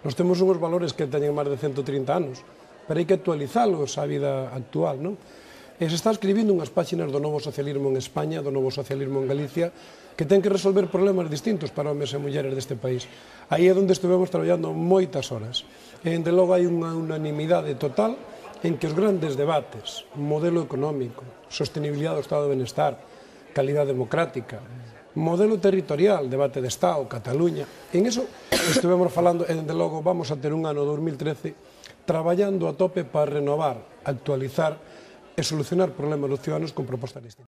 Nos temos unhos valores que teñen máis de 130 anos, pero hai que actualizalos á vida actual, non? E se está escribindo unhas páxinas do novo socialismo en España, do novo socialismo en Galicia, que ten que resolver problemas distintos para homes e mulleres deste país. Aí é onde estivemos traballando moitas horas. E, desde logo, hai unha unanimidade total en que os grandes debates, modelo económico, sostenibilidade do Estado de Benestar, calidad democrática, modelo territorial, debate de Estado, Cataluña, en eso estivemos falando, e, desde logo, vamos a ter un ano 2013 traballando a tope para renovar, actualizar e solucionar problemas dos ciudadanos con propostas distintas.